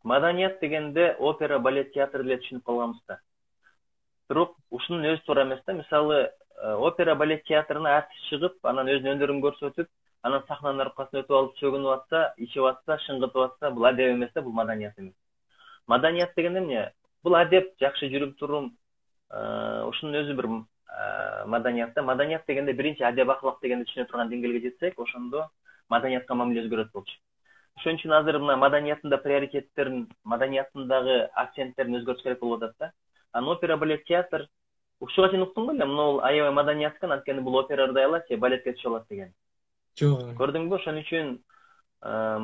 маданият дегенде опера, балет, театр деле түшүнүп калганбыз да. Бирок ушунун өзү туура эмес да. Мисалы, опера, балет театрына артист чыгып, анан өзүнүн өнөрүн көрсөтүп, анан сахнанын аркасына өтүп алып чөгүнүп атса, ичип атса, шыңгытып атса, бул адеп эмес да, бул маданият эмес. Маданият дегенде эмне? Бул адеп, жакшы жүрүм турум, ушунун өзү бир маданият да. Маданият дегенде биринчи адеп аклак дегенди түшүнө турган деңгээлге жетсек, ошондо маданиятка мамиле өзгөрөт болчу. Ошон үчүн азыр мына маданияттын приоритеттерин, маданияттындагы акценттерин өзгөртүш керек болуп атат да. Анан опера, балет, театр ушуга чейин уктуң беле? Мына аябай маданият экен, анткени бул операда ырдай алат же балетке түшө алат деген. Жок. Көрдүңбү? Ошон үчүн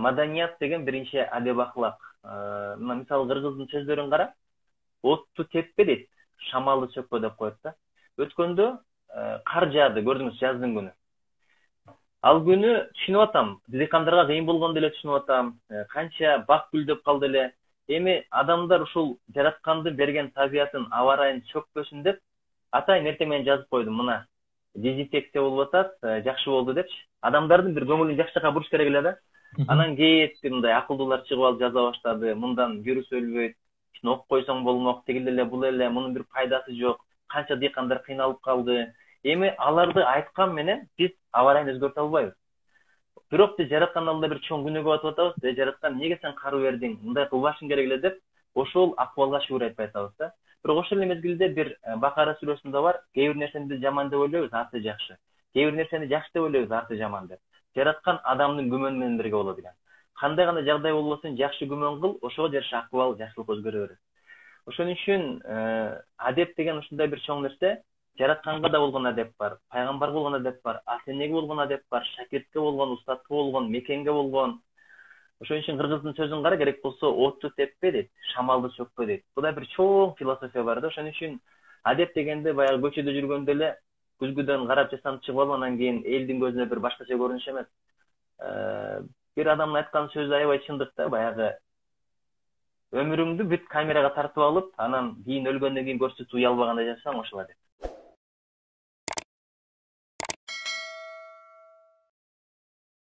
маданият деген биринчи адеп аклак. Мына мисалы кыргыздын сөздөрүн кара. Отту теппе дейт, шамалды сөкпө деп коет да. Өткөндө кар жаады, көрдүңүз, жаздын күнү. Ал күнү түшүнүп атам, дыйкандарга кыйын болгону деле түшүнүп атам. Канча бак гүлдөп калды эле. Эми адамдар ушул жараткандын берген табиятын, аба ырайын сөкпөсүн деп, атайын эртең менен жазып койдум. Мына дезинфекция болуп атат, жакшы болду депчи. Адамдардын бир көңүлүн жакшы жака буруш керек эле да. Анан кээти мындай акылдуулар чыгып алып жаза баштады. Мындан вирус өлбөйт, окуп койсоң болмок, тигил эле, бул эле, мунун бир пайдасы жок. Канча дыйкандар кыйналып калды. Эми аларды айткан менен биз аба ырайын өзгөртө албайбыз. Бирок биз жараткан алдында бир чоң күнөөгө батып атабыз. Жараткан, эмнеге сен кар бердиң? Мындай кылбашың керек эле деп, ошол акыбалга шүгүр айтпай атабыз да. Бирок ошол эле мезгилде бир Бакара сүрөсүндө бар, кээ бир нерсени биз жаман деп ойлойбуз, арты жакшы. Кээ бир нерсени жакшы деп ойлойбуз, арты жаман деп. Жараткан адамдын күмөнү менен бирге болот экен. Кандай гана жагдай болбосун, жакшы күмөн кыл, ошого жараша акыбал, жакшылык өзгөрө берет. Ошон үчүн адеп деген ушундай бир чоң нерсе. Жаратканга да болгон адеп бар, пайгамбарга болгон адеп бар, ата энеге болгон адеп бар, шакиртке болгон, устатка болгон, мекенге болгон. Ошон үчүн кыргыздын сөзүн кара, керек болсо отту теппе дейт, шамалды сөкпө дейт. Буда бир чоң философия бар да. Ошон үчүн адеп дегенде баягы көчөдө жүргөндө эле күзгүдөн карап жасанып чыгып алып, анан кийин элдин көзүнө бир башкача көрүнүш эмес. Бир адамдын айткан сөзү аябай чындык да, баягы өмүрүңдү бүт камерага тартып алып, анан кийин өлгөндөн кийин көрсөтүп уялбагандай жашасаң, ошол адеп.